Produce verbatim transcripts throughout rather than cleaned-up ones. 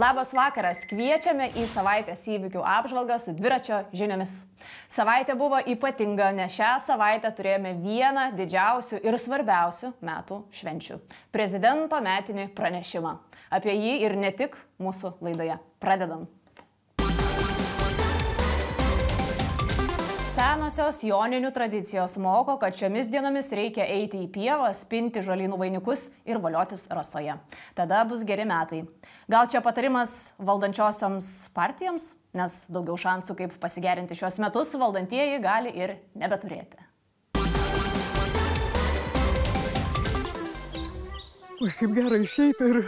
Labas vakaras, kviečiame į savaitės įvykių apžvalgą su dviračio žiniomis. Savaitė buvo ypatinga, nes šią savaitę turėjome vieną didžiausių ir svarbiausių metų švenčių – prezidento metinį pranešimą. Apie jį ir ne tik mūsų laidoje. Pradedam. Senosios joninių tradicijos moko, kad šiomis dienomis reikia eiti į pievą, spinti žolynų vainikus ir voliotis rasoje. Tada bus geri metai. Gal čia patarimas valdančiosioms partijoms, nes daugiau šansų, kaip pasigerinti šios metus, valdantieji gali ir nebeturėti. Ui, kaip gerai išeiti ir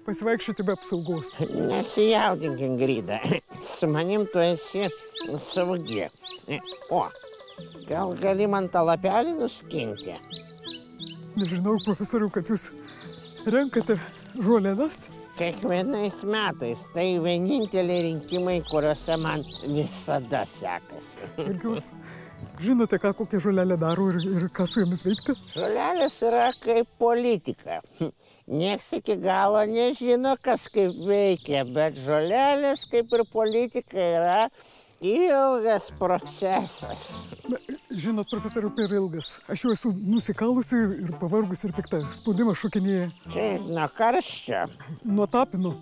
pasivaikščioti be apsaugos. Nesijaudink, Ingrida. Su manim tu esi saugi. O, gal gali man tą lapelį nuskinti? Nežinau, profesoriau, kad jūs renkate žolėnas? Kiekvienais metais tai vieninteliai rinkimai, kuriuose man visada sekasi. Ir jūs žinote, ką kokią žolelę daro ir, ir ką su jomis veikti? Žolelės yra kaip politika. Nieks iki galo nežino, kas kaip veikia, bet žolelės kaip ir politika yra ilgas procesas. Na, žinot, profesoriau, per ilgas. Aš jau esu nusikalusi ir pavargusi ir pikta. Spaudimas šokinėja. Čia nuo karščio. Nuo tapino.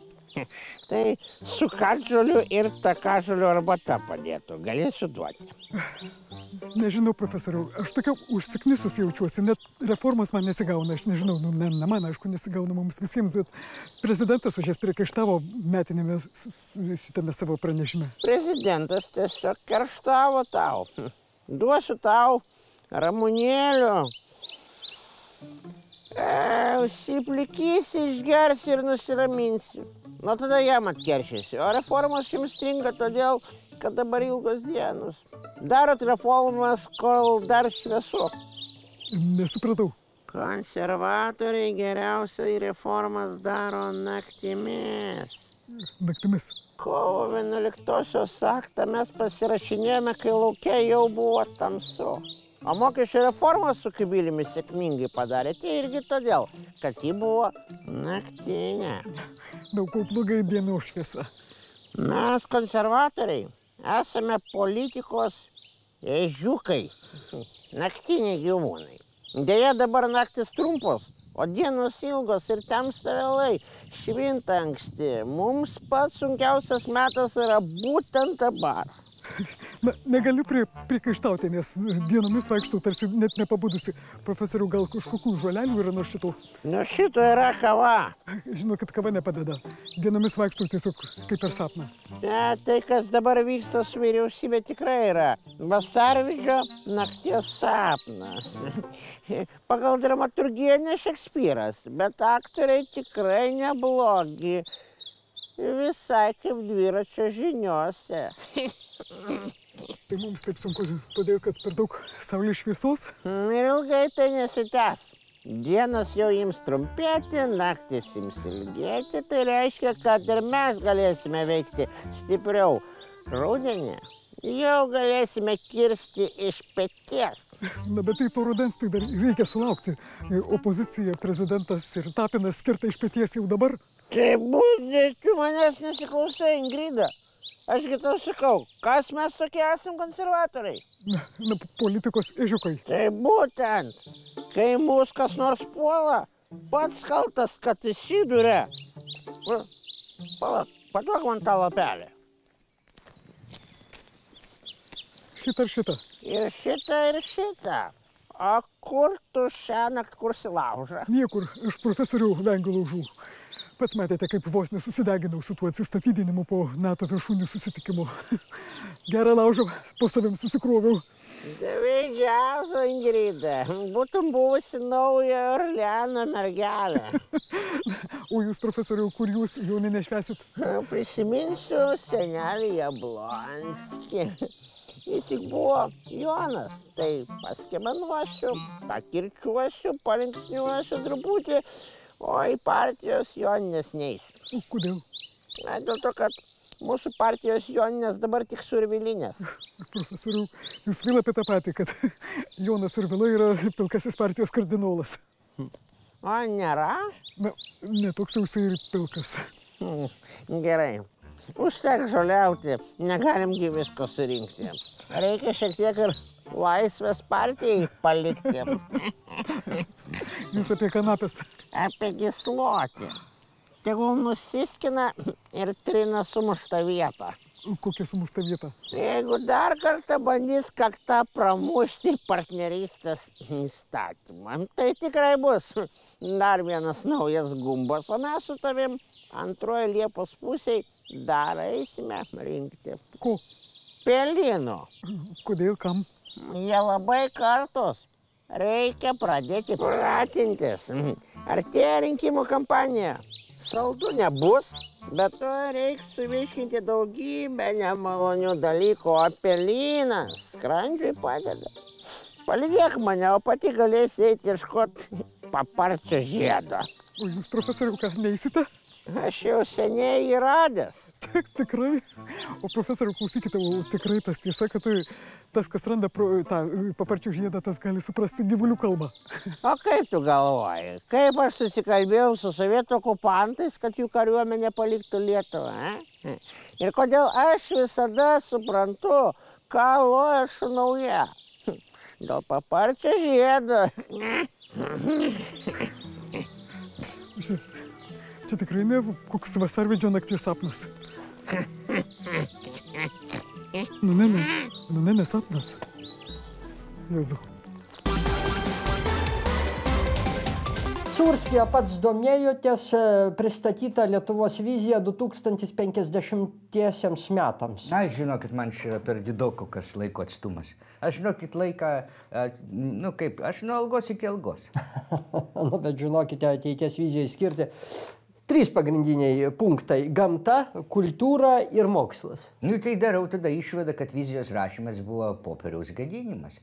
Tai su katžoliu ir takažoliu arbata padėtų. Galėsiu duoti. Nežinau, profesoriau, aš tokia užsiknisus jaučiuosi. Net reformos man nesigauna. Aš nežinau, nu, ne, ne man, aišku, nesigauna mums visiems, bet prezidentas už jas priekaištavo metinėme šitame savo pranešime. Prezidentas tiesiog kerštavo tau. Duosiu tau ramunėlių. E, užsiplikysi, išgersi ir nusiraminsi. Nu, tada jam atkeršysi. O reformos jums stringa todėl, kad dabar ilgos dienos. Darot reformas, kol dar šviesu. Nesupratau. Konservatoriai geriausiai reformas daro naktimis. Naktimis. Kovo vienuoliktosios aktą mes pasirašinėjome, kai lauke jau buvo tamsu. O mokesčių reformą su Kubiliumi sėkmingai padarėte irgi todėl, kad ji buvo naktinė. Daug ko blogai dienos šviesa. Mes, konservatoriai, esame politikos ežiukai, naktiniai gyvūnai. Deja, dabar naktis trumpos, o dienos ilgos ir tamsta vėlai, švinta anksti. Mums pats sunkiausias metas yra būtent dabar. Na, negaliu prie, priekaištauti, nes dienomis vaikštau tarsi net nepabudusi. Profesoriau, gal kažkokių žolelių yra nuo šito? Nuo šito yra kava. Žinau, kad kava nepadeda. Dienomis vaikštau tiesiog kaip per sapną. Ne, tai, kas dabar vyksta su vyriausybė, tikrai yra vasarvidžio nakties sapnas. Pagal dramaturgiją ne Šekspyras, bet aktoriai tikrai neblogi. Visai kaip dviračio žiniose. Tai mums taip sunku, todėl, kad per daug saulės šviesos? Ir ilgai tai nesitęs. Dienos jau ims trumpėti, naktis ims ilgėti, tai reiškia, kad ir mes galėsime veikti stipriau. Rudenį jau galėsime kirsti iš peties. Na, bet tai to rudens tai dar reikia sulaukti. Opozicija, prezidentas ir Tapinas skirta iš peties jau dabar. Tai būtent, tu manęs nesiklausai, Ingrida. Ašgi tau sakau, kas mes tokie esam konservatoriai? Na, na, politikos ežiukai. Tai būtent, kai mūs kas nors puola, pats kaltas, kad įsiduria. Palauk, paduok man tą lapelį. Šitą ir šitą. Ir šitą, ir šitą. O kur tu šiąnakt kursi laužą? Niekur, aš profesorių vengiu laužų. Pats matėte, kaip vos nesusideginau su tuo atsistatydinimu po NATO viršūnių susitikimo. Gerą laužą po savim susikroviau. Davai džiazo, Ingrida. Būtum buvusi nauja Orleano mergelė. O jūs, profesoriau, kur jūs Joninę švęsit? Prisiminsiu senelį Jablonskį. Jis tik buvo Jonas. Tai paskemanuosiu, pakirčiuosiu, palinksniuosiu truputį. O į partijos Joninės neisiu. Kodėl? Na, dėl to, kad mūsų partijos Joninės dabar tik Survilinės. Profesoriau, jūs vėl apie tą patį, kad Jonas Survila yra pilkasis partijos kardinolas. O nėra? Na, netoks jau jisai ir pilkas. Gerai. Užtek žoliauti, negalimgi visko surinkti. Reikia šiek tiek ir laisvės partijai palikti. Jūs apie kanapės. Apie gislotį. Tegul nusiskina ir trina sumuštą vietą. Kokia sumušta vieta? Jeigu dar kartą bandys kaktą pramušti partnerystės įstatymą, tai tikrai bus dar vienas naujas gumbas, o mes su tavim antroje Liepos pusėje dar eisime rinkti. Ko? Pelynų. Kodėl, kam? Jie labai kartos. Reikia pradėti pratintis. Artėja rinkimų kampanija. Saldu nebus, bet to reiks suvirškinti daugybę nemalonių dalykų, o pelynas skrandžiui padeda. Palydėk mane, o pati galėsi eiti ieškoti paparčio žiedo. O jūs, profesoriau, ką, neįsite? Aš jau seniai jį radęs. Tik, tikrai. O profesoriau, klausykite, o tikrai tas tiesa, kad tai, tas, kas randa pro, tą paparčio žiedą, tas gali suprasti gyvulių kalbą. O kaip tu galvoji? Kaip aš susikalbėjau su sovietų okupantais, kad jų kariuomenė paliktų Lietuvą? Eh? Ir kodėl aš visada suprantu, ką loja šunauja? Dėl paparčio žiedo. Čia tikrai ne koks vasarvidžio nakties sapnas. Nu ne, ne, nu ne, ne sapnas. Jėzu. Surskija pats domėjotės, pristatyta Lietuvos vizija du tūkstantis penkiasdešimtiesiems metams. Na, žinokit, man čia yra per daug kokias laiko atstumas. Aš žinokit laiką, nu kaip, aš nuo algos iki algos. Nu, bet žinokite, ateities vizijai skirti trys pagrindiniai punktai – gamta, kultūra ir mokslas. Nu, tai darau tada išvadą, kad vizijos rašymas buvo popieriaus gadinimas.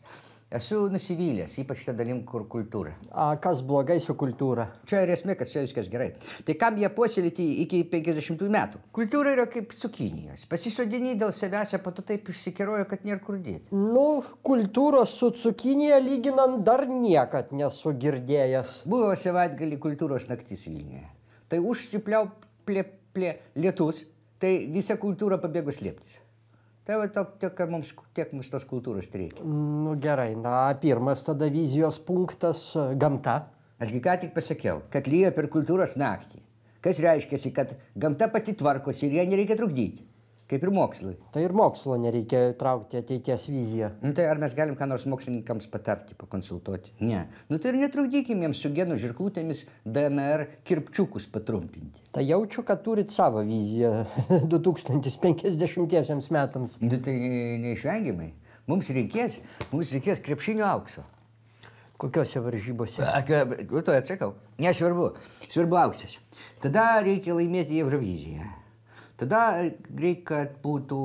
Esu nusivylęs, ypač tą dalim, kur kultūra. A kas blogai su kultūra? Čia ir esmė, kad čia viskas gerai. Tai kam jie puoselėti iki penkiasdešimtųjų metų? Kultūra yra kaip cukinijos. Pasisodini dėl savęs, po to taip išsikerojo, kad nėra kur dėti. Nu, kultūros su cukinija lyginant dar niekad nesu girdėjęs. Buvo savaitgalį kultūros naktis Vilniuje. Tai užsipliauplė plė lietus, tai visa kultūra pabėgo slėptis. Tai va tok, tiek, mums, tiek mums tos kultūros reikia. Nu gerai, na pirmas tada vizijos punktas – gamta. Ašgi ką tik pasakiau, kad lyja per kultūros naktį. Kas reiškiasi, kad gamta pati tvarkosi ir ją nereikia trukdyti. Kaip ir mokslui. Tai ir mokslo nereikia traukti ateities viziją. Nu tai ar mes galim ką nors mokslininkams patarti, pakonsultuoti? Ne. Nu tai ir netrukdykim jiems su genų žirklutėmis D N R kirpčiukus patrumpinti. Tai jaučiu, kad turit savo viziją du tūkstantis penkiasdešimtiesiems metams. Nu tai neišvengiamai. Mums reikės, mums reikės krepšinio aukso. Kokiose varžybose? To atsakau. Nesvarbu. Svarbu auksas. Tada reikia laimėti Euroviziją. Tada reikia, kad būtų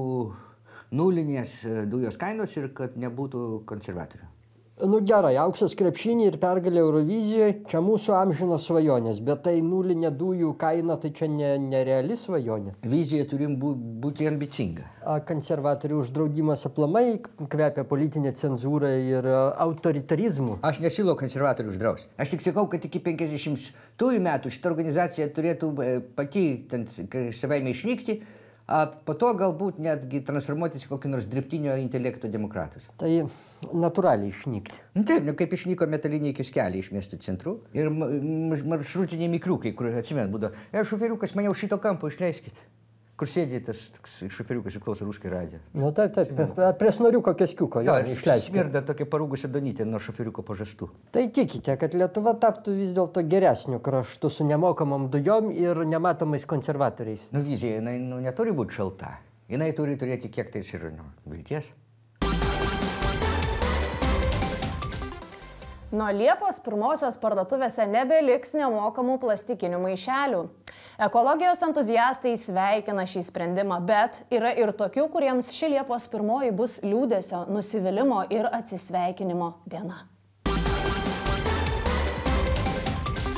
nulinės dujos kainos ir kad nebūtų konservatorių. Nu gerai, auksas krepšinį ir pergalė Eurovizijoje, čia mūsų amžinos svajonės, bet tai nulinė dujų kaina, tai čia ne, nereali svajonė. Vizija turim bū, būti ambicinga. A konservatorių uždraudimas aplamai kvepia politinė cenzūra ir autoritarizmu. Aš nesiūlau konservatorių uždrausti. Aš tik sakau, kad iki penkiasdešimtųjų metų šita organizacija turėtų pati savaime išnykti, a po to galbūt netgi transformuotis į kokį nors dirbtinio intelekto demokratus. Tai natūraliai išnykti. Taip, nu, kaip išnyko metaliniai kioskelį iš miestų centrų ir maršrutiniai mikriukai, kur atsimenu būdavo, e, šoferiukas, mane už šito kampo išleiskit. Kur sėdė tas šoferiukas ir klauso Ruskai radiją. Nu taip, taip, prie snoriuko keskiuko jo išleiskit. Smirda tokia parūgusi Donytė nuo šoferiuko pažastų. Tai tikite, kad Lietuva taptų vis dėlto geresniu kraštu su nemokamom dujom ir nematomais konservatoriais? Nu, vizija, jinai nu, neturi būti šalta. Jinai turi turėti kiek tais ir nu, vilties. Nuo Liepos pirmosios parduotuvėse nebeliks nemokamų plastikinių maišelių. Ekologijos entuziastai sveikina šį sprendimą, bet yra ir tokių, kuriems ši Liepos pirmoji bus liūdesio, nusivylimo ir atsisveikinimo diena.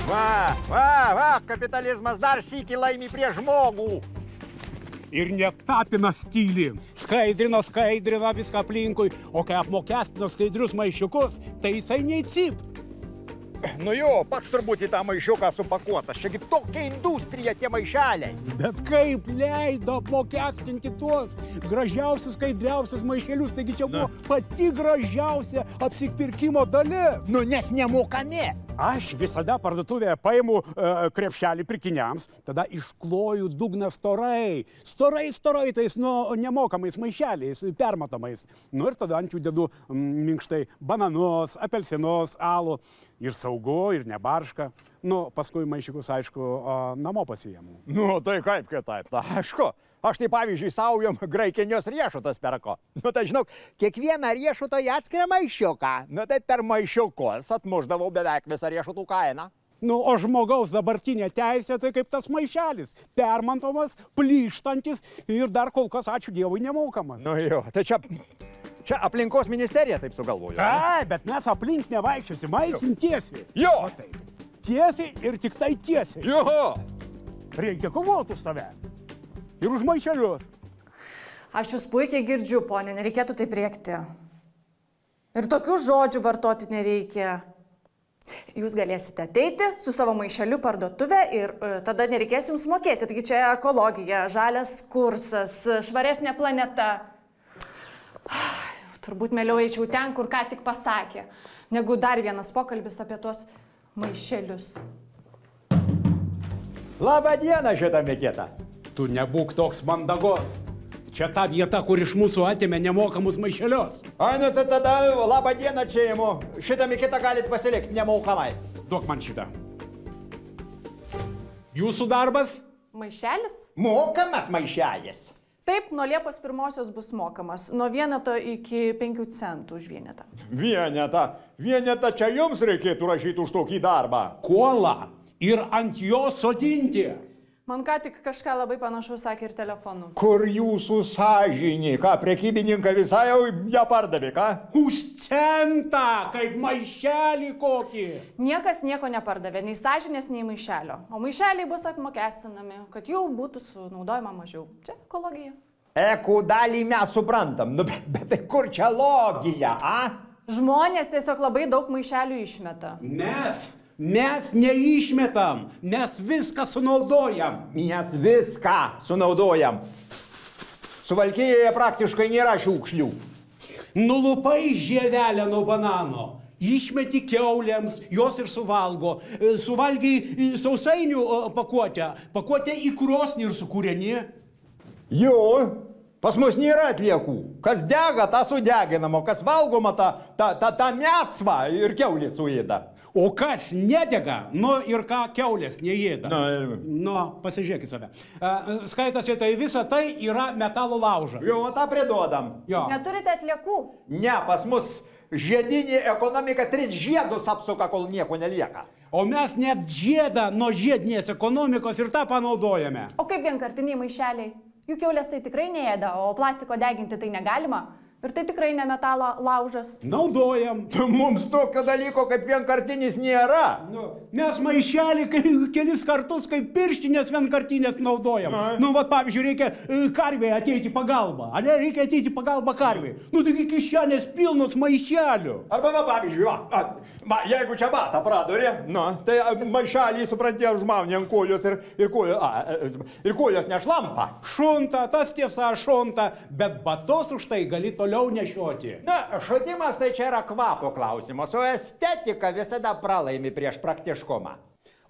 Va, va, va, kapitalizmas dar sykį laimi prie žmogų. Ir net tapinas tyli. Skaidrino, skaidrino viską aplinkui, o kai apmokestino skaidrius maišiukus, tai jisai nei cypt. Nu jo, pats turbūt į tą maišiuką supakuotas. Čiagi tokia industrija tie maišeliai. Bet kaip leido apmokestinti tuos gražiausius, skaidriausius maišelius, taigi čia buvo pati gražiausia apsipirkimo dalis. Nu, nes nemokami. Aš visada parduotuvėje paimu uh, krepšelį pirkiniams, tada iškloju dugną storai. Storai, storai, tais nu, nemokamais maišeliais, permatomais. Nu ir tada ant jų dedu mm, minkštai bananus, apelsinus, alų. Ir saugu, ir nebarška. Nu, paskui maišiukus, aišku, o, namo pasiėmu. Nu, tai kaip kitaip, ta aišku. Aš tai pavyzdžiui saujom graikinės riešutas perko. Nu, tai žinok, kiekvieną riešutą į atskirą maišiuką. Nu, tai per maišiukus atmuždavau beveik visą riešutų kainą. Nu, o žmogaus dabartinė teisė tai kaip tas maišelis. Permantomas, plyštantis ir dar kol kas, ačiū Dievui, nemokamas. Nu jo, tai čia... Čia aplinkos ministerija taip sugalvojo. Ai, bet mes aplink nevaikščiosim, aisim tiesiai. Jo! O taip. Tiesiai ir tik tai tiesiai. Jo! Reikia kovoti už tave. Ir už maišelius. Aš jūs puikiai girdžiu, ponė, nereikėtų taip rėkti. Ir tokių žodžių vartoti nereikia. Jūs galėsite ateiti su savo maišeliu parduotuvę ir uh, tada nereikės jums mokėti. Taigi čia ekologija, žalias kursas, švaresnė planeta. Turbūt mieliau eičiau ten, kur ką tik pasakė, negu dar vienas pokalbis apie tuos maišelius. Labą dieną, šitą Mikitą. Tu nebūk toks mandagos. Čia ta vieta, kur iš mūsų atėmė nemokamus maišelius. Ai, nu tai tada labą dieną čia imu. Šitą Mikitą galit pasilikti nemokamai. Duok man šitą. Jūsų darbas? Maišelis? Mokamas maišelis. Taip, nuo Liepos pirmosios bus mokamas. Nuo vieneto iki penkių centų už vienetą. Vienetą. Vienetą čia jums reikėtų rašyti už tokį darbą. Kuolą ir ant jo sodinti. Man ką tik kažką labai panašaus sakė ir telefonu. Kur jūsų sąžinė? Ką, prekybininką visai jau ją pardavė, ką? Už centą, kaip maišelį kokį. Niekas nieko nepardavė, nei sąžinės, nei maišelio. O maišeliai bus apmokestinami, kad jų būtų sunaudojama mažiau. Čia ekologija. Eko dalį mes suprantam, nu, bet, bet tai kur čia logija, a? Žmonės tiesiog labai daug maišelių išmeta. Mes, mes neišmetam, mes viską sunaudojam. Mes viską sunaudojam. Suvalkijoje praktiškai nėra šiukšlių. Nulupai žievelę nuo banano. Išmeti kiaulėms, jos ir suvalgo. Suvalgiai sausainių pakuotę, pakuotę į krosnį ir sukūreni. Jo, pas mus nėra atliekų. Kas dega, tą sudeginamo, kas valgoma, tą ta, ta, ta mėsvą ir kiaulė suėda. O kas nedega, nu ir ką kiaulės neėda. Na, ir... Nu, pasižiūrėk į save. Skaitasi, tai visa tai yra metalo laužas. Jo, tą priduodam. Jo. Neturite atliekų? Ne, pas mus žiedinė ekonomika tris žiedus apsuka, kol nieko nelieka. O mes net žiedą nuo žiedinės ekonomikos ir tą panaudojame. O kaip vienkartiniai maišeliai? Juk kiaulės tai tikrai neėda, o plastiko deginti tai negalima. Ir tai tikrai ne metalo laužas. Naudojam. Mums tokio dalyko kaip vienkartinis nėra. Nu, mes maišelį kelis kartus kaip pirštinės vienkartinės naudojam. Na. Nu, vat, pavyzdžiui, reikia karvėje ateiti pagalbą. Ar ne, reikia ateiti pagalbą karvėje. Nu, taigi kišenės pilnos maišelių. Arba, va, pavyzdžiui, va, va, jeigu čia batą pradurė, nu, tai maišelį, supranti, žmaunė ant kojos ir, ir, kojos, a, ir kojos nešlampa. Šunta, tas tiesa šunta, bet batus už tai gali toliau nešioti. Na, šutimas tai čia yra kvapo klausimas, o estetika visada pralaimi prieš praktiškumą.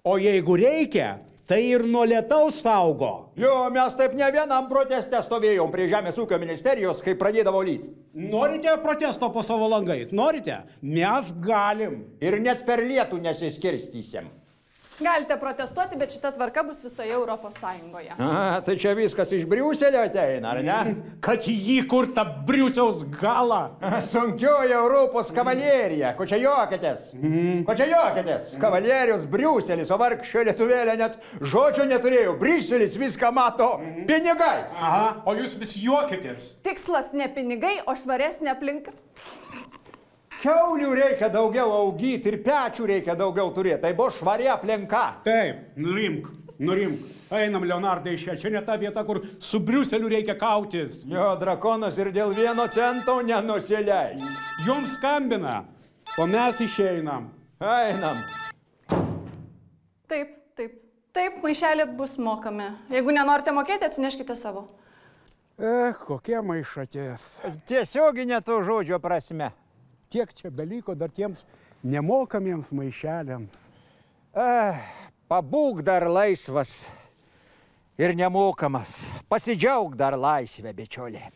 O jeigu reikia, tai ir nuo lietaus saugo. Jo, mes taip ne vienam proteste stovėjom prie Žemės ūkio ministerijos, kai pradėdavo lyti. Norite protesto po savo langais? Norite? Mes galim. Ir net per lietų nesiskirstysim. Galite protestuoti, bet šita tvarka bus visoje Europos Sąjungoje. A, tai čia viskas iš Briuselio ateina, ar ne? Kad jį kur ta Briusiaus gala. Sunkioji Europos kavalerija. Ko čia juokitės? Mm. Ko čia juokitės? Kavalierius Briuselis, o vargšė lietuvėlė net žodžio neturėjo. Briuselis viską mato pinigais. Aha, o jūs vis juokitės. Tikslas ne pinigai, o švaresnė aplinka. Kiaulių reikia daugiau augyti ir pečių reikia daugiau turėti. Tai buvo švari aplinka. Taip, nurimk, nurimk. Einam, Leonardai, iš čia. Čia ne ta vieta, kur su Briuseliu reikia kautis. Jo, drakonas ir dėl vieno cento nenusileis. Jums skambina, o mes išeinam. Einam. Taip, taip. Taip, maišelė bus mokami. Jeigu nenorite mokėti, atsineškite savo. Eh, kokie maišatės. Tiesioginė to žodžio prasme. Kiek čia beliko dar tiems nemokamiems maišeliams. Eh, pabūk dar laisvas ir nemokamas. Pasidžiauk dar laisvę, bičiulė.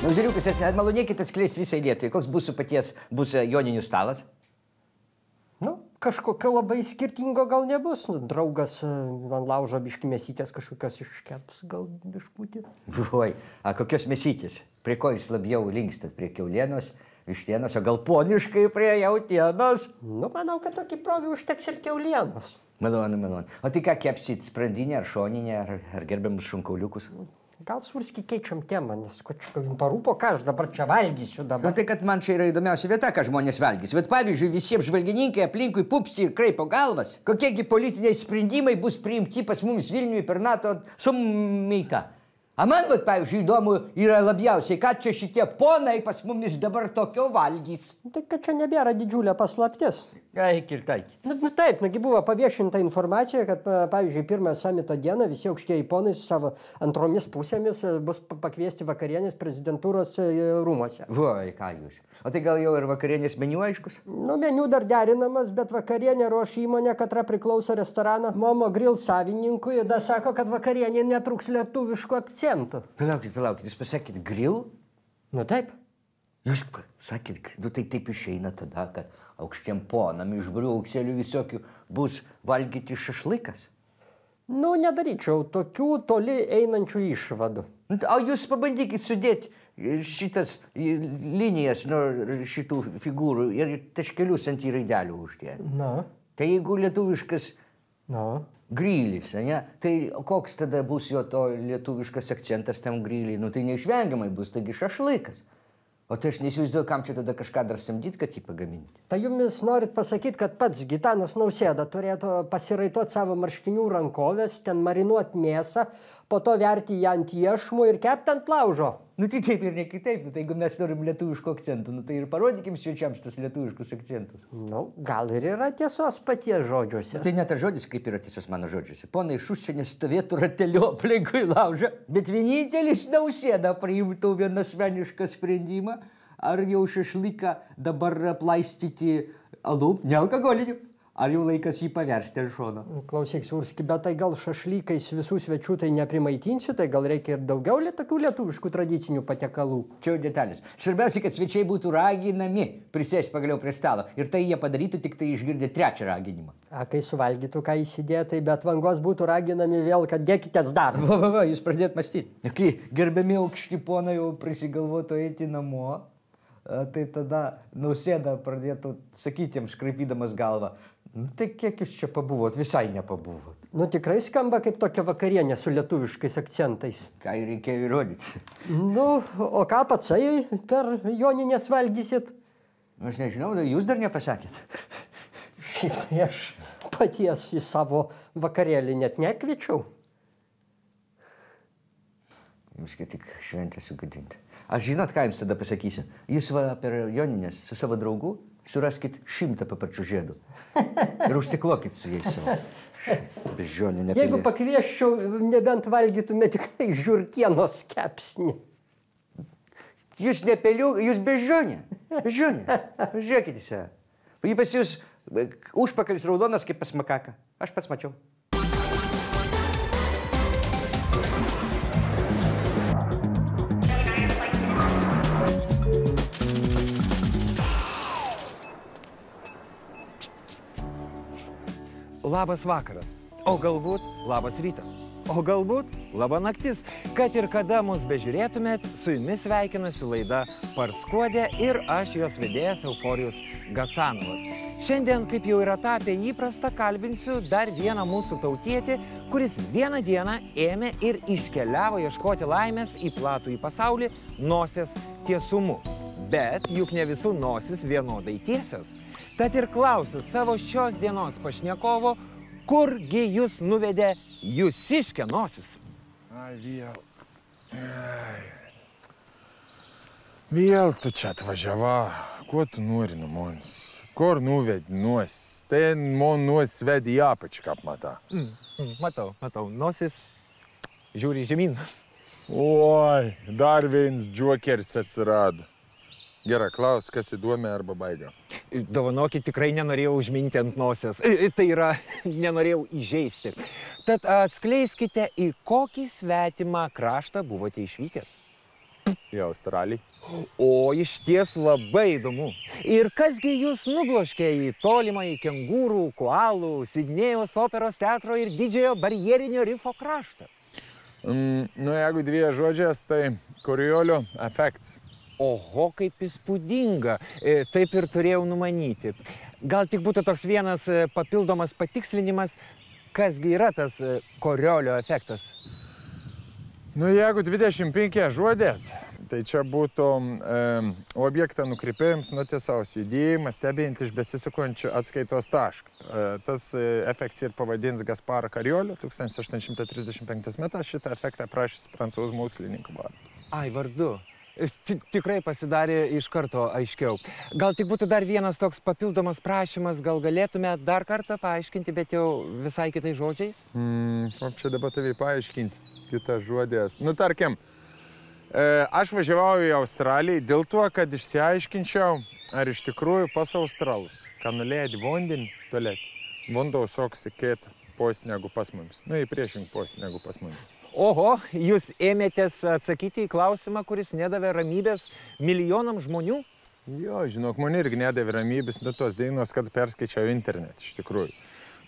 Nu, žiūriukas, malonėkit atskleisti visai Lietuvai. Koks bus su paties, bus joninių stalas? Nu, kažkokio labai skirtingo gal nebus. Nu, draugas man laužo biški mėsytės kažkokios iškeps, gal biškutį. Oi, a kokios mėsytės? Prie ko jūs labiau linkstat? Prie kiaulienos, vištienos, o gal poniškai prie jautienos? Nu, manau, kad tokį provį užteks ir kiaulienos. Malonu, malonu. O tai ką kepsit, sprandinę ar šoninę, ar, ar gerbiamus šunkauliukus? Gal surski keičiam temą, nes ko čia parūpo, ką aš dabar čia valgysiu dabar. Na tai, kad man čia yra įdomiausia vieta, ką žmonės valgys. Bet pavyzdžiui, visiems žvalgininkai aplinkui pupsi ir kraipo galvas. Kokiegi politiniai sprendimai bus priimti pas mumis Vilniuje per NATO summitą. A man, vat, pavyzdžiui, įdomu yra labiausiai, kad čia šitie ponai pas mumis dabar tokio valgys. Tai kad čia nebėra didžiulė paslaptis. Eikit, eikit. Nu, taip, nugi buvo paviešinta informacija, kad, pavyzdžiui, pirmąją samito dieną visi aukštieji ponai su savo antromis pusėmis bus pakviesti vakarienės prezidentūros rūmose. Voi, ką jūs. O tai gal jau ir vakarienės meniu aiškus? Nu, meniu dar derinamas, bet vakarienė ruoš įmonė, katra priklauso restoraną Momo Grill savininkui ir dar sako, kad vakarienė netruks lietuviškų akcentų. Palaukit, palaukit, jūs pasakėt grill? Nu, taip. Jūs sakėt, nu tai taip išeina tada, kad aukštiem ponam iš briaukselių visokių bus valgyti šašlykas? Nu, nedaryčiau tokių toli einančių išvadų. O jūs pabandykit sudėti šitas linijas nuo šitų figūrų ir taškelius ant į raidelių uždėti. Na. Tai jeigu lietuviškas Na. grylis, ne? Tai koks tada bus jo to lietuviškas akcentas tam gryliai? Nu tai neišvengiamai bus, taigi šašlykas. O tai aš nesivaizduoju, kam čia tada kažką dar samdyt, kad jį pagaminti. Tai jumis norit pasakyti, kad pats Gitanas Nausėda turėtų pasiraituoti savo marškinių rankovės, ten marinuoti mėsą, po to verti ją ant iešmų ir kepti ant laužo. Nu tai taip ir ne kitaip, nu, tai jeigu mes norim lietuviškų akcentų, nu tai ir parodykim svečiams tas lietuviškus akcentus. Nu, gal ir yra tiesos paties žodžiuose. Nu, tai ne tas žodis, kaip yra tiesos mano žodžiuose. Ponai iš užsienio stovėtų rateliu aplinkui laužą, bet vienintelis Nausėda priimtų vienasmenišką sprendimą, ar jau šašlyką dabar aplaistyti alum, nealkoholiniu. Ar jau laikas jį paversti ant šono? Klausyk, Surski, bet tai gal šašlykais visų svečių tai neprimaitinsi, tai gal reikia ir daugiau tokių lietuviškų tradicinių patiekalų. Čia jau detalės. Svarbiausia, kad svečiai būtų raginami prisėsti pagaliau prie stalo. Ir tai jie padarytų tik tai išgirdę trečią raginimą. A, kai suvalgytų, ką įsidėtai, bet vangos būtų raginami vėl, kad dėkitės dar. Va, va, va, jūs pradėt mąstyti. Kai gerbiami aukšti ponai jau prisigalvotų eiti namo, tai tada Nausėda pradėtų sakyti jiems, škraipydamas galvą. Nu, tai kiek jūs čia pabuvot? Visai nepabuvot. Nu, tikrai skamba kaip tokia vakarienė su lietuviškais akcentais. Ką ir reikėjo įrodyti. Nu, o ką patsai per joninės valgysit? Aš nežinau, jūs dar nepasakėt. Šiaip tai aš paties į savo vakarėlį net nekviečiau. Jums kad tik šventę sugadinti. Aš žinot, ką jums tada pasakysiu. Jūs va per joninės su savo draugu suraskit šimtą paparčių žiedų. Ir užsiklokit su jais savo. Bežionė, nepilė. Jeigu pakvieščiau, nebent valgytume tik žiurkienos kepsnį. Jūs nepeliu, jūs bežionė. Bežionė. Žiūrėkit į save. Jį pas jūs užpakalis raudonas kaip pas makaką. Aš pats mačiau. Labas vakaras, o galbūt labas rytas. o galbūt laba naktis. Kad ir kada mus bežiūrėtumėt, su jumis sveikinasi laida Parskuodė ir aš jos vedėjas Euforijus Gasanovas. Šiandien, kaip jau yra tapę įprasta, kalbinsiu dar vieną mūsų tautietį, kuris vieną dieną ėmė ir iškeliavo ieškoti laimės į platų į pasaulį nosies tiesumu. Bet juk ne visų nosis vienodai tiesios. Tad ir klausiu savo šios dienos pašnekovo, kurgi jūs nuvedė jūsiškė nosis? Ai, vėl. Ai. Vėl tu čia atvažiava. Kuo tu nori nuo manis? Kur nuvedi nosis? Ten man nosis vedi į apačią, kaip matą. Mm, mm, matau, matau. Nosis žiūri žemyn. Oi, dar vienas džokeris atsirado. Gerai, klaus, kas įdomi arba baigia. Dovanokit, tikrai nenorėjau užminti ant nosies. Tai yra, nenorėjau įžeisti. Tad atskleiskite, į kokį svetimą kraštą buvote išvykęs. Į Australiją. O, iš ties labai įdomu. Ir kasgi jūs nubloškė į tolimą į kengūrų, koalų, Sidnėjaus operos teatro ir didžiojo barjerinio rifo kraštą? Mm, nu, jeigu dviejų žodžiais, tai Koriolio efektas. Oho, kaip įspūdinga. E, taip ir turėjau numanyti. Gal tik būtų toks vienas e, papildomas patikslinimas, kasgi yra tas e, Koriolio efektas? Nu, jeigu dvidešimt penki žodės, tai čia būtų e, objektą nukreipėjams nuo tiesaus judėjimą, stebint iš besisukančių atskaitos tašką. E, tas e, efektas ir pavadins Gasparą Koriolio, tūkstantis aštuoni šimtai trisdešimt penktais metais šitą efektą aprašys prancūzų mokslininkų vardu. Ai, vardu. Tikrai pasidarė iš karto aiškiau. Gal tik būtų dar vienas toks papildomas prašymas, gal galėtume dar kartą paaiškinti, bet jau visai kitais žodžiais? Mm, kaip čia dabar tavai paaiškinti, kitas žodės. Nu, tarkim, e, aš važiavau į Australiją dėl to, kad išsiaiškinčiau, ar iš tikrųjų pas australus, kad nuleidė vandenį tualetį, vanduo soksi kitą posį negu pas mums. Nu, į priešingą posį negu pas mums. Oho, jūs ėmėtės atsakyti į klausimą, kuris nedavė ramybės milijonam žmonių? Jo, žinok, man irgi nedavė ramybės nuo tos dainos, kad perskaičiau internetą, iš tikrųjų.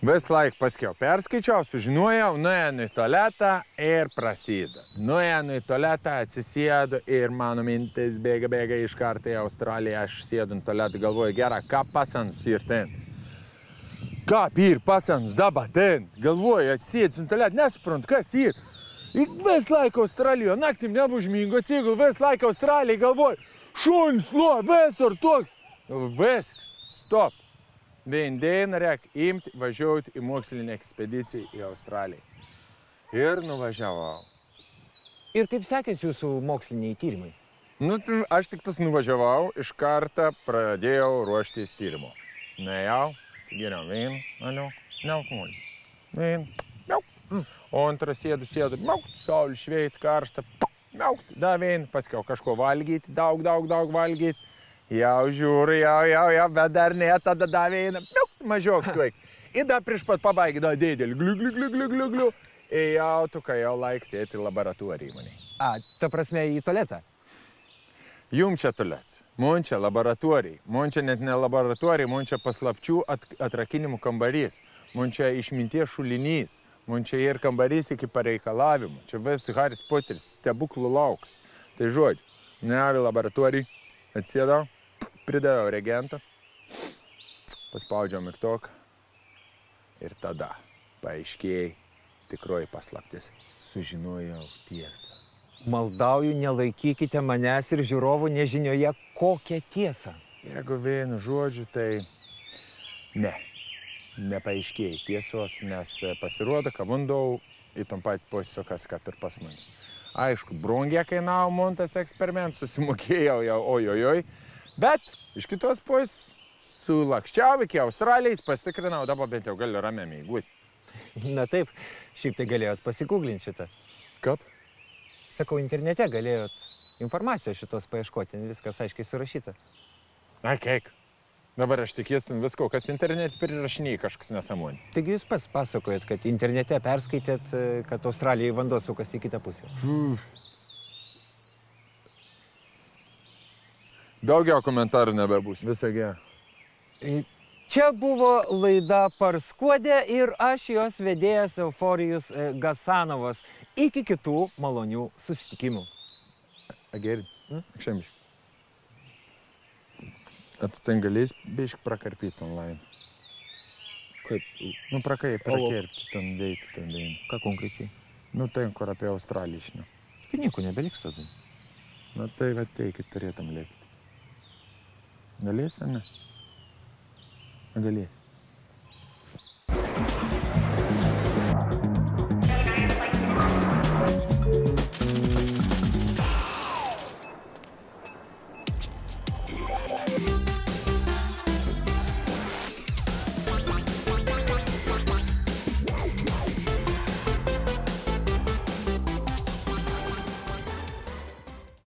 Vis laik paskiau perskaičiau, sužinojau, nuėjau į tualetą ir prasideda. Nuėjau į tualetą, atsisėdu ir mano mintis bėga, bėga iš karto į Australiją. Aš sėdu į tualetą, galvoju, gera, ką pasanus ir ten. Ką ir pasanus dabar ten? Galvoju, atsėdus į tualetą, nesuprantu, kas ir. Ir vis laik Australijoje, naktim nebužmingo atsigul, vis laik Australijai galvoju, šunis, lo, visur toks. Viskas, stop. Vien dieną reik imti, važiuoti į mokslinę ekspediciją į Australiją. Ir nuvažiavau. Ir kaip sekėsi jūsų moksliniai tyrimai? Nu, aš tik tas nuvažiavau, iš karto pradėjau ruoštis tyrimo. Nuėjau, atsigėriau vyną, aliu, nealkoholį. Vyną, miau. O antras sėdu, sėdu, miaukt, saulė šveit, karšta, miaukt, da vyną, paskiau kažko valgyti, daug, daug, daug valgyti. Jau žiūri, jau, jau, jau, bet dar ne, tada da vyną, miaukt, mažiok tuik. Ir da prieš pat pabaigį da dėdėlį, gliu, gliu, gliu, gliu, gliu, gliu. Ir jau tu, kai jau laik sėti laboratorijai maniai. A, ta prasme į tualetą? Jum čia tualets, man čia laboratorijai, man čia net ne laboratorijai, man čia paslapčių at, atrakinimų kambarys, man čia išminties šulinys. Man čia ir kambarys iki pareikalavimų. Čia vis Haris Poteris, stebuklų laukas. Tai žodžiu, nuėjau į laboratoriją, atsėdau, pridaviau reagentą, paspaudžiau mygtuką ir tada paaiškėjai tikroji paslaptis. Sužinojau tiesą. Maldauju, nelaikykite manęs ir žiūrovų nežinioje kokią tiesą. Jeigu vienu žodžiu, tai ne. Nepaaiškėjai tiesos, nes pasirodo, kad vandau į tom pat posisukas, kaip ir pas mums. Aišku, brangiai kainavo man tas eksperimentas, susimokėjau jau ojojoj, bet iš kitos pusės sulakščiau iki Australijos, pasitikrinau, dabar bent jau galiu ramiai mėgūti. Na taip, šiaip tai galėjot pasigūglinti šitą. Kaip? Sakau, internete galėjot informacijos šitos paieškoti, viskas aiškiai surašyta. Na, keik. Dabar aš tikėstin visko, kas internete prirašinėjai kažkas nesąmonė. Taigi jūs pats pasakojat, kad internete perskaitėt, kad Australijai vanduo sukasi į kitą pusę. Hmm. Daugiau komentarų nebebus, visą gerą. Čia buvo laida Parskuodė ir aš jos vedėjas Euforijus Gasanovas. Iki kitų malonių susitikimų. Ageri, akšemiš. A tu ten galės bišk prakarpyti online? Kaip? Nu, prakai, prakerpti ten veikti, ten veikti. Ką konkrečiai? Nu, ten, kur apie Australiją išnio. Pinigų nebeliks tada. Na, tai va teikit, turėtum lėkti. Galės, ar ne? Galės.